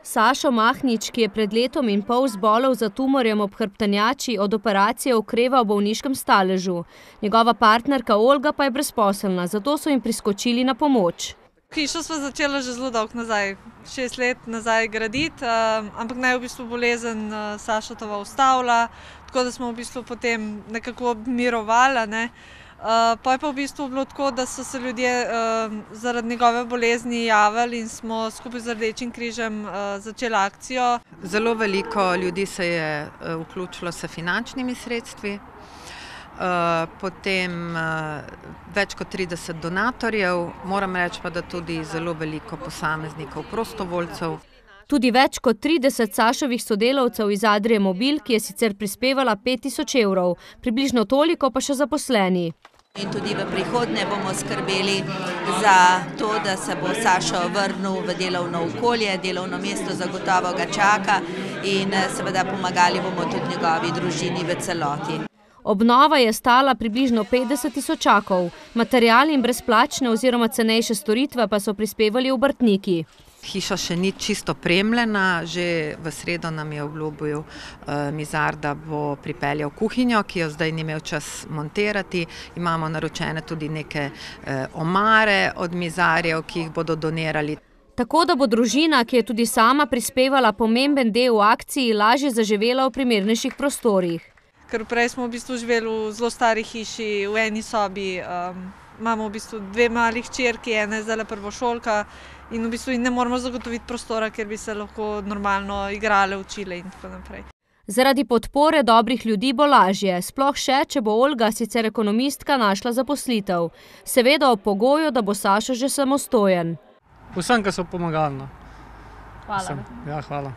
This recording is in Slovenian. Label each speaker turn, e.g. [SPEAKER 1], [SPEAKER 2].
[SPEAKER 1] Sašo Mahnič, ki je pred letom in pol zbolel za tumorjem ob hrbtenjači, od operacije okreva v bolniškem staležu. Njegova partnerka Olga pa je brezposelna, zato so jim priskočili na pomoč.
[SPEAKER 2] Hišo sva začela že zelo dolgo nazaj, 6 let nazaj graditi, ampak naj v bistvu bolezen Sašotova ustavila, tako da smo v bistvu potem nekako mirovali. Pa je pa v bistvu bilo tako, da so se ljudje zaradi njegove bolezni javili in smo skupaj z Rdečim križem začeli akcijo.
[SPEAKER 3] Zelo veliko ljudi se je vključilo s finančnimi sredstvi, potem več kot 30 donatorjev, moram reči pa, da tudi zelo veliko posameznikov, prostovoljcev.
[SPEAKER 1] Tudi več kot 30 Sašovih sodelavcev iz Adrie Mobil, ki je sicer prispevala 5000 evrov, približno toliko pa še zaposleni.
[SPEAKER 4] In tudi v prihodnje bomo skrbeli za to, da se bo Sašo vrnil v delovno okolje, delovno mesto zagotovo ga čaka in seveda pomagali bomo tudi njegovi družini v celoti.
[SPEAKER 1] Obnova je stala približno 50 tisočakov, material in brezplačne oziroma cenejše storitve pa so prispevali obrtniki.
[SPEAKER 3] Hiša še ni čisto opremljena, že v sredo nam je obljubil Mizar, da bo pripeljal kuhinjo, ki jo zdaj ni imel čas montirati. Imamo naročene tudi neke omare od Mizarjev, ki jih bodo donirali.
[SPEAKER 1] Tako da bo družina, ki je tudi sama prispevala pomemben del v akciji, lažje zaživela v primernejših prostorih.
[SPEAKER 2] Ker prej smo v bistvu živeli v zelo stari hiši, v eni sobi. Imamo v bistvu 2 mali hčerki, ena je zdaj prvošolka in v bistvu ne moramo zagotoviti prostora, kjer bi se lahko normalno igrale, učile in tako naprej.
[SPEAKER 1] Zaradi podpore dobrih ljudi bo lažje, sploh še, če bo Olga, sicer ekonomistka, našla zaposlitev. Seveda ob pogoju, da bo Sašo že samostojen.
[SPEAKER 5] Vsem, ki so pomagali.
[SPEAKER 1] Hvala.
[SPEAKER 5] Ja, hvala.